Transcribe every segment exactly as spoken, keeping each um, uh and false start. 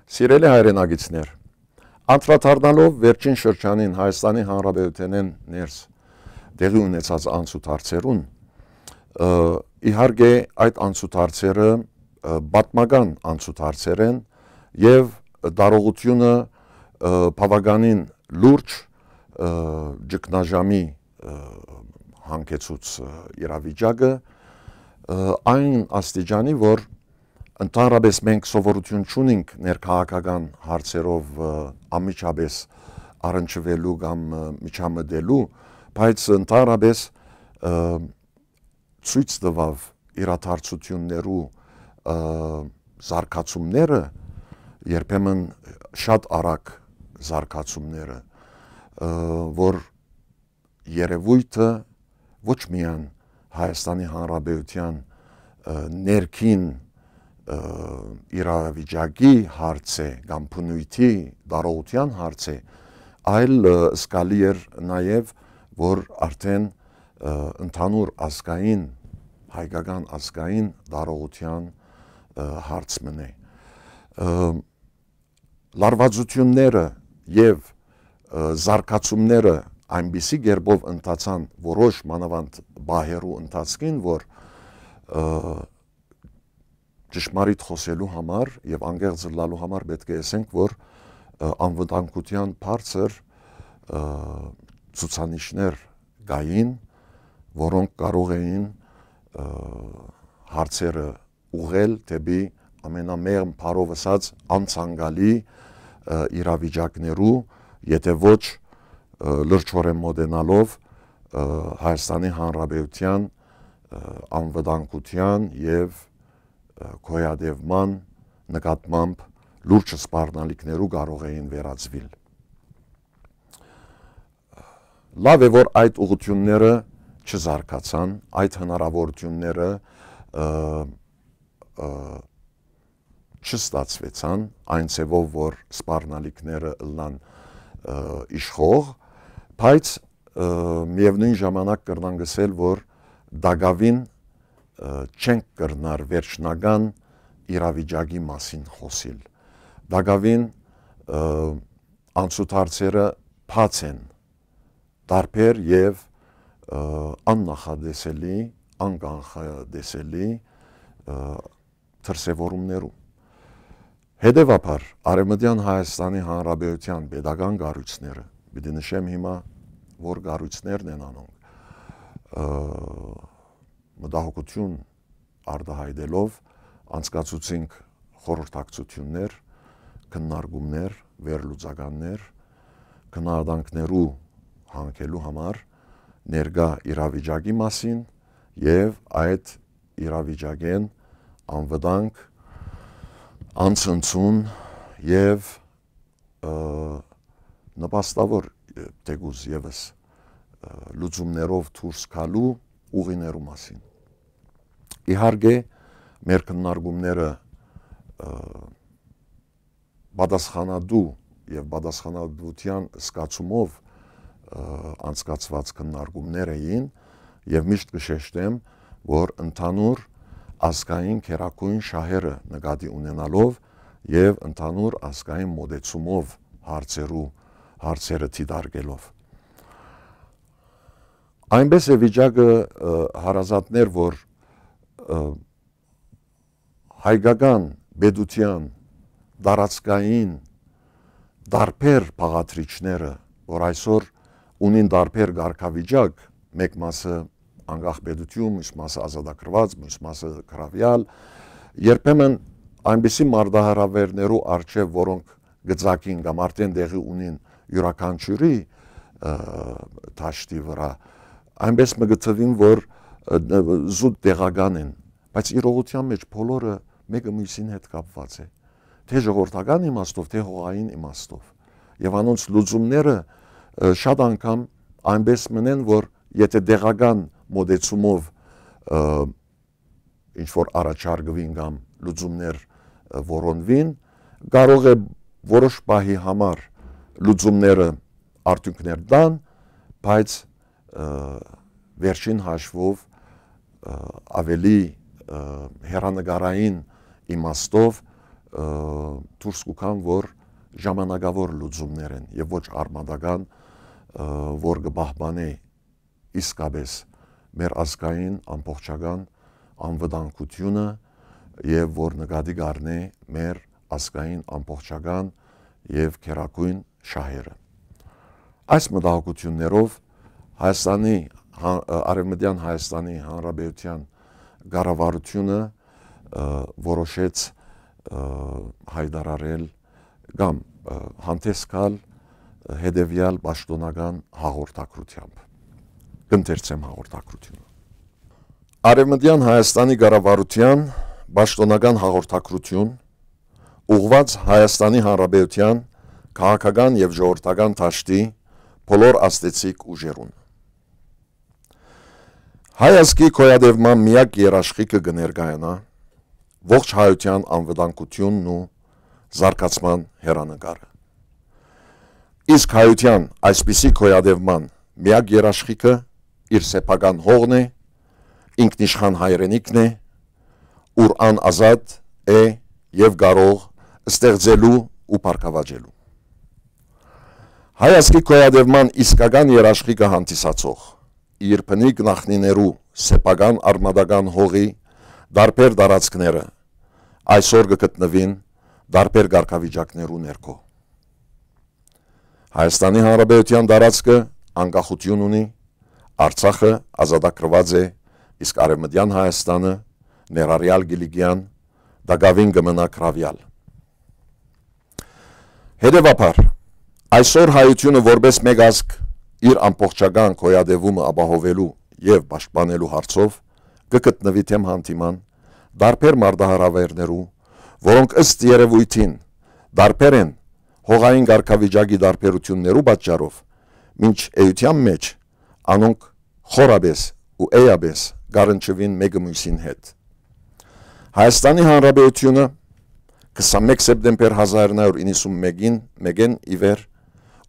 Սիրելի հայրենակիցներ, անդրադառնալով վերջին շրջանին Հայաստանի Հանրապետութենէն ներս տեղի ունեցած անցուդարձերուն, ը, իհարկե այդ անցուդարձերը, ը, պատմական անցուդարձեր են եւ տարողութիւնը, ը, բաւականին լուրջ, ը, ճգնաժամի, ը, հանգեցուց, ը, իրավիճակը, ը, այն աստիճանի, որ ընդհանրապես մենք սովորութիւն չունինք ներքաղաքական հարցերով, ը, անմիջապես առնչուելու կամ, ը, միջամտելու, բայց ընդհանրապես, ը, ցոյց տուաւ իրադարձութիւններու, ը, զարգացումները, երբեմն շատ արագ զարգացումները, ը, որ երեւոյթը ոչ միայն Հայաստանի Հանրապետութեան, ը, ներքին, ը, իրավիճակի հարց է կամ բնույթի տարողութեան հարց է, այլ, ը, զգալի էր նաեւ, որ արդեն, ը, ընդհանուր ազգային, հայկական ազգային տարողութեան, ը, հարց մնէ։ Ը, լարվածութիւնները եւ, ը, զարգացումները այնպիսի կերպով ընթացան որոշ մանաւանդ պահերու ընթացքին, որ, ը, ճշմարիտ խօսելու համար եւ անկեղծ ըլլալու համար պէտք է ըսենք, որ, ը, անվտանգութեան բարձր, ը, ցուցանիշներ կային, որոնք կարող էին, ը, հարցերը ուղղել դէպի ամենամեղմ բառով ըսած անցանկալի, ը, իրավիճակներու, եթե ոչ, ը, լրջորեն մօտենալով, ը, Հայաստանի Հանրապետութեան, ը, անվտանգութեան եւ, ը, գոյատեւման նկատմամբ լուրջ սպառնալիքներու կարող էին վերածուիլ։ Լաւ է, որ այդ ուղղութիւնները չզարգացան, այդ հնարաւորութիւնները, ը, ը, չստացուեցան այն ձեւով, որ սպառնալիքները ըլլան, ը, իշխող, բայց, ը, միեւնոյն ժամանակ կրնանք ըսել, որ տակաւին, ը, չենք կրնար վերջնական իրավիճակի մասին խօսիլ։ Տակաւին, ը, անցուդարձերը բաց են, տարբեր եւ, ը, աննախատեսելի, անկանխատեսելի, ը, դրսեւորումներու։ Հետեւաբար, Արեւմտեան Հայաստանի Հանրապետութեան պետական կառոյցները, պիտի նշեմ հիմա, որ կառոյցներն են անոնք, ը, մտահոգութիւն արտահայտելով անցկացուցինք խորհրդակցութիւններ, քննարկումներ, վերլուծականներ, գնահատանքներու հանգելու համար ներկայ իրավիճակի մասին եւ այդ իրավիճակէն անվտանգ, անցնցուն եւ, ը, նպաստաւոր, ը, թեկուզ եւս, ը, լուծումներով դուրս գալու ուղիներու մասին։ Իհարկե, մեր քննարկումները, ը, պատասխանատու եւ պատասխանատուութեան զգացումով, ը, անցկացուած քննարկումներ էին եւ միշտ կը շեշտեմ, որ ընդհանուր ազգային գերագույն շահերը նկատի ունենալով եւ ընդհանուր ազգային մոտեցումով հարցերու, հարցերը դիտարկելով։ Այնպես է վիճակը, ը, հարազատներ, որ, ը, հայկական պետութեան տարածքային տարբեր բաղադրիչները, որ այսօր ունին տարբեր կարգավիճակ, մէկ մասը անկախ պետութիւն, մյուս մասը ազատագրուած, մյուս մասը գրաւեալ, երբեմն այնպիսի մարտահրաւէրներու առջեւ, որոնք գծակին կամ արդեն տեղի ունին իւրաքանչիւրի, ը, դաշտի վրայ, այնպես մը գտվին, որ, ը, զուտ տեղական են, բայց իրողութեան մէջ բոլորը մէկը մյուսին հետ կապուած է, թէ ժողովրդական իմաստով, թէ հողային իմաստով։ Եւ անոնց լուծումները, ը, շատ անգամ այնպես մնեն, որ եթե տեղական մոտեցումով, ը, ինչ որ առաջարկուին կամ լուծումներ, ը, որոնուին, կարող է որոշ պահի համար լուծումները արդիւնքներ տան, բայց, ը, վերջին հաշվով, ը, ավելի, ը, հեռանկարային իմաստով, ը, դուրս կու գան, որ ժամանակաւոր լուծումներ են եւ ոչ արմատական, ը, որ կը պահպանէ իսկապէս մեր ազգային ամբողջական անվտանգութիւնը եւ որ նկատի կ'առնէ մեր ազգային ամբողջական եւ գերագոյն շահերը։ Այս մտահոգութիւններով Հայաստանի, հա-, Արեւմտեան Հայաստանի Հանրապետութեան կառավարութիւնը, ը, որոշեց, ը, յայտարարել կամ, ը, հանդէս գալ հետեւեալ պաշտօնական հաղորդագրութեամբ։ Կ'ընթերցեմ հաղորդագրութիւնը։ Արեւմտեան Հայաստանի կառավարութեան պաշտօնական հաղորդագրութիւն, ուղղուած Հայաստանի Հանրապետութեան քաղաքական եւ ժողովրդական դաշտի բոլոր ազդեցիկ ուժերուն։ Հայ ազգի գոյատեւման միակ երաշխիքը կը ներկայանայ ողջ հայութեան անվտանգութիւնն ու զարգացման հեռանկարը։ Իսկ հայութեան այսպիսի գոյատեւման միակ երաշխիքը իր սեփական հողն է, ինքնիշխան հայրենիքն է, ուր ան ազատ է եւ կարող ստեղծելու ու բարգաւաճելու։ Հայ ազգի գոյատեւման իսկական երաշխիքը հանդիսացող իր բնիկ նախնիներու սեփական արմատական հողի տարբեր տարածքները այսօր կը գտնուին տարբեր կարգավիճակներու ներքո։ Հայաստանի Հանրապետութեան տարածքը անկախութիւն ունի, Արցախը ազատագրուած է, իսկ Արեւմտեան Հայաստանը, ներառեալ Կիլիկիան, տակաւին կը մնայ գրաւեալ։ Հետեւաբար, այսօր հայութիւնը որպէս մէկ ազգ իր ամբողջական գոյատեւումը ապահովելու եւ պաշտպանելու հարցով կը գտնուի դէմ հանդիման տարբեր մարտահրաւէրներու, որոնք ըստ երեւոյթին տարբեր են հողային կարգավիճակի տարբերութիւններու պատճառով, մինչ էութեան մէջ անոնք խորապէս ու էյապէս կառնչուին մէկը միւսին հետ։ Հայաստանի Հանրապետութիւնը քսանմէկ սեպտեմբեր հազար իննսուն մէկին, մէկէն ի վեր,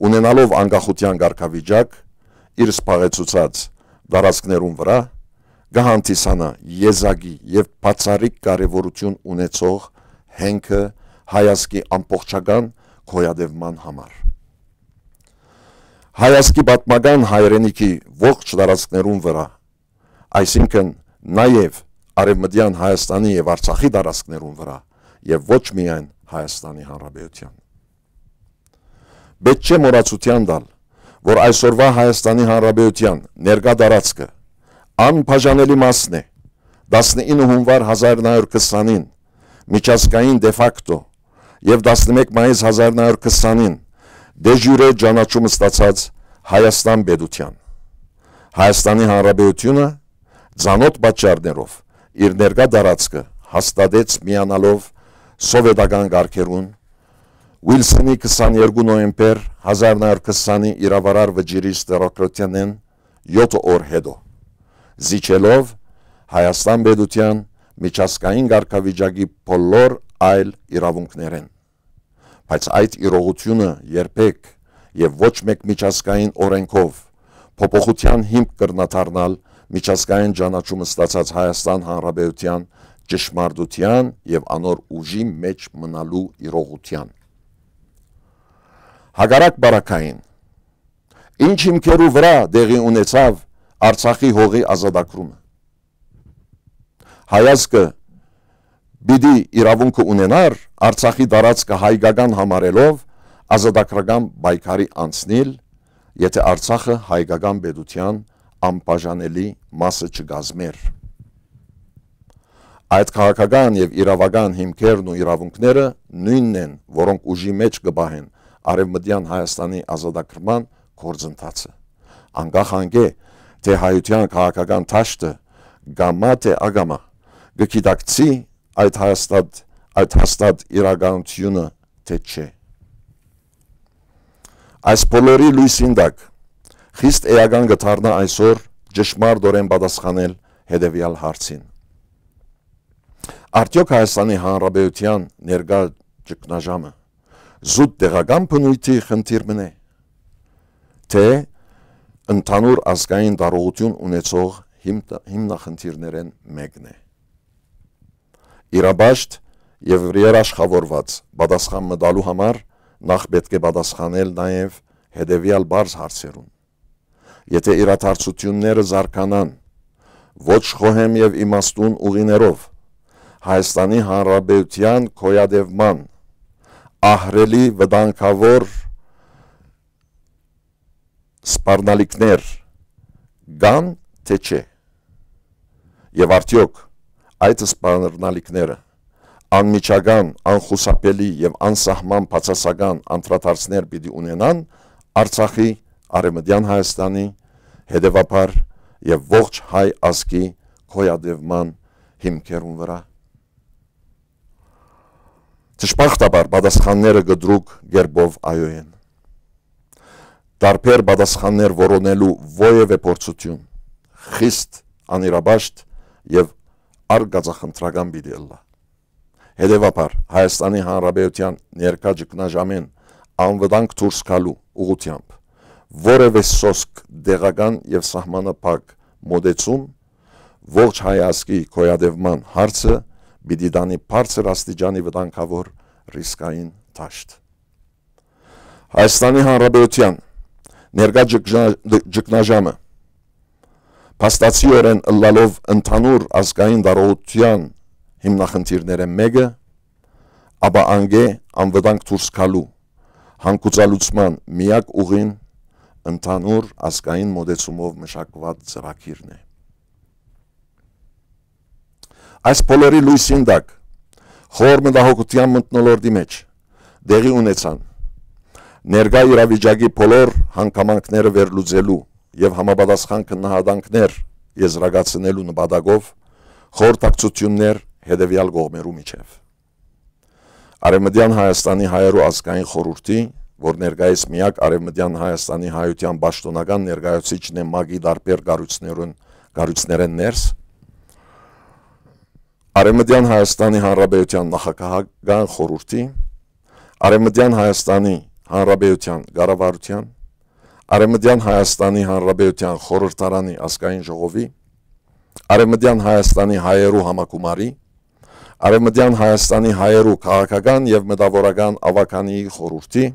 ունենալով անկախութեան կարգավիճակ իր զբաղեցուցած տարածքներուն վրայ, կը հանդիսանայ եզակի եւ բացառիկ կարեւորութիւն ունեցող հենքը հայ ազգի ամբողջական գոյատեւման համար։ Հայ ազգի պատմական հայրենիքի ողջ տարածքներուն վրայ, այսինքն նաեւ Արեւմտեան Հայաստանի եւ Արցախի տարածքներուն վրայ եւ ոչ միայն Հայաստանի Հանրապետութեան։ Պէտք չէ մոռացութեան տալ, որ այսօրուայ Հայաստանի Հանրապետութեան ներկայ տարածքը անբաժանելի մասն է տասնինը հունուար հազար իննսուն քսանին միջազգային դեֆակտո եւ տասնմէկ մայիս հազար իննսուն քսանին դեժյուրե ճանաչում ստացած Հայաստան պետութեան։ Հայաստանի Հանրապետութիւնը ծանօթ պատճառներով իր ներկայ տարածքը հաստատեց միանալով սովետական կարգերուն, Ուիլսոնի քսաներկու նոյեմբեր հազար իննսուն քսանի իրաւարար վճիռի ստորագրութենէն եօթ օր յետոյ, զիջելով Հայաստան պետութեան միջազգային կարգավիճակի բոլոր այլ իրաւունքներէն։ Բայց այդ իրողութիւնը երբեք եւ ոչ մէկ միջազգային օրէնքով փոփոխութեան հիմք կրնայ դառնալ միջազգային ճանաչում ստացած Հայաստան Հանրապետութեան ճշմարտութեան եւ անոր ուժի մէջ մնալու իրողութեան։ Հակառակ պարագային, ինչ հիմքերու վրայ տեղի ունեցաւ Արցախի հողի ազատագրումը։ Հայ ազգը պիտի իրաւունքը ունենար Արցախի տարածքը հայկական համարելով ազատագրական պայքարի անցնիլ, եթէ Արցախը հայկական պետութեան անբաժանելի մասը չկազմէր։ Այդ քաղաքական եւ իրաւական հիմքերն ու իրաւունքները նոյնն են, որոնք ուժի մէջ կը պահեն Արեւմտեան Հայաստանի ազատագրման գործընթացը, անկախ անկէ, թէ հայութեան քաղաքական դաշտը կամա թէ ակամա կը գիտակցի այդ հաստատ, այդ հաստատ իրականութիւնը թէ չէ։ Այս բոլորի լոյսին տակ խիստ էական կը դառնայ այսօր ճշմարտօրէն պատասխանել հետեւեալ հարցին։ Արդեօք Հայաստանի Հանրապետութեան ներկայ ճգնաժամը զուտ տեղական բնույթի խնդիր մըն է, թէ ընդհանուր ազգային տարողութիւն ունեցող հիմ-, հիմնախնդիրներէն մէկն է։ Իրապաշտ Եւ երաշխաւորուած պատասխան մը տալու համար նախ պէտք է պատասխանել նաեւ հետեւեալ պարզ հարցերուն. եթէ իրադարձութիւնները զարգանան ոչ խոհեմ եւ իմաստուն ուղիներով, Հայաստանի Հանրապետութեան գոյատեւման ահռելի վտանգաւոր սպառնալիքներ կան, թէ չէ։ Եւ արդեօք այդ սպառնալիքները անմիջական, անխուսափելի եւ անսահման բացասական անդրադարձներ պիտի ունենան Արցախի, Արեւմտեան Հայաստանի, հետեւաբար եւ ողջ հայ ազգի գոյատեւման հիմքերուն վրայ։ Դժբախտաբար պատասխանները կտրուկ կերպով այո են։ Տարբեր պատասխաններ որոնելու որեւէ փորձութիւն խիստ անիրապաշտ եւ արկածախնդրական պիտի ըլլայ։ Հետեւաբար, Հայաստանի Հանրապետութեան ներկայ ճգնաժամէն անվտանգ դուրս գալու ուղղութեամբ որեւէ սոսկ, տեղական եւ սահմանափակ մօտեցում ողջ հայ ազգի գոյատեւման հարցը պիտի տանի բարձր աստիճանի վտանգաւոր ռիսկային դաշտ։ Հայաստանի Հանրապետութեան ներկայ ճգնա-, ճգնաժամը փաստացիորեն ըլլալով ընդհանուր ազգային տարողութեան հիմնախնդիրներէն մէկը, ապա անկէ անվտանգ դուրս գալու հանգուցալուծման միակ ուղին ընդհանուր ազգային մօտեցումով մշակուած ծրագիրն է։ Այս բոլորի լոյսին տակ, խոր մտահոգութեան մթնոլորտի մէջ, տեղի ունեցան ներկայ իրավիճակի բոլոր հանգամանքները վերլուծելու եւ համապատասխան քննահատանքներ եզրակացնելու նպատակով խորհրդակցութիւններ հետեւեալ կողմերու միջեւ։ Արեւմտեան Հայաստանի հայերու ազգային խորհուրդի, որ ներկայիս միակ Արեւմտեան Հայաստանի հայութեան պաշտօնական ներկայացուցիչն է ՄԱԿ-ի տարբեր կառույցներուն, կառույցներէն ներս, Արեւմտեան Հայաստանի Հանրապետութեան նախագահական խորհուրդի, Արեւմտեան Հայաստանի Հանրապետութեան կառավարութեան, Արեւմտեան Հայաստանի Հանրապետութեան խորհրդարանի ազգային ժողովի, Արեւմտեան Հայաստանի հայերու համագումարի, Արեւմտեան Հայաստանի հայերու քաղաքական եւ մտաւորական աւագանիի խորհուրդի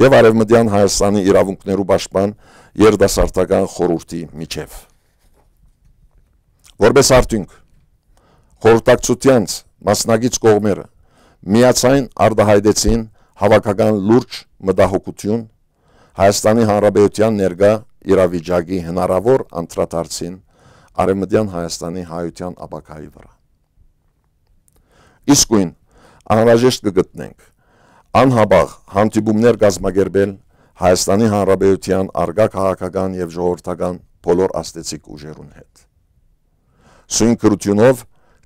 եւ Արեւմտեան Հայաստանի իրաւունքներու պաշտպան երիտասարդական խորհուրդի միջեւ։ Որպէս արդիւնք, խորհրդակցութեանց մասնակից կողմերը միացայն արտահայտեցին հաւաքական լուրջ մտահոգութիւն Հայաստանի Հանրապետութեան ներկայ իրավիճակի հնարաւոր անդրադարձին Արեւմտեան Հայաստանի հայութեան ապագայի վրայ։ Իսկոյն անհրաժեշտ կը գտնենք անհապաղ հանդիպումներ կազմակերպել Հայաստանի Հանրապետութեան առկայ քաղաքական եւ ժողովրդական բոլոր ազդեցիկ ուժերուն հետ։ Սոյն գրութիւնով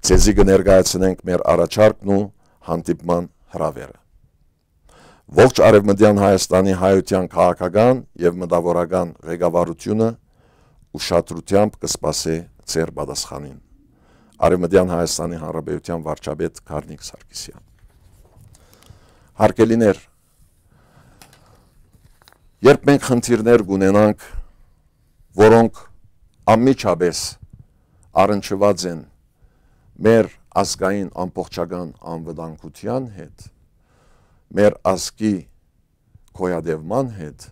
ձեզի կը ներկայացնենք մեր առաջարկն ու հանդիպման հրաւերը։ Ողջ Արեւմտեան Հայաստանի հայութեան քաղաքական եւ մտաւորական ղեկավարութիւնը ուշադրութեամբ կը սպասէ ձեր պատասխանին։ Արեւմտեան Հայաստանի Հանրապետութեան վարչապետ Գառնիկ Սարգսեան։ Հարգելիներ, երբ մենք խնդիրներ կունենանք, որոնք անմիջապէս առնչուած են մեր ազգային ամբողջական անվտանգութեան հետ, մեր ազգի գոյատևման հետ,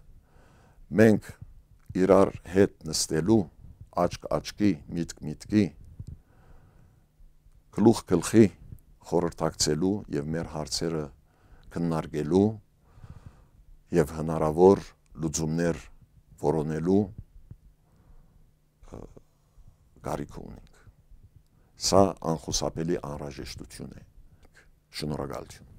մենք իրար հետ նստելու, աչք աչքի, միտք միտքի, գլուխ գլխի խորհրդակցելու եւ մեր հարցերը քննարկելու եւ հնարաւոր լուծումներ որոնելու, ը, կարիքը ունենք։ Սա անխուսափելի անհրաժեշտութիւն է։ Շնորհակալութիւն։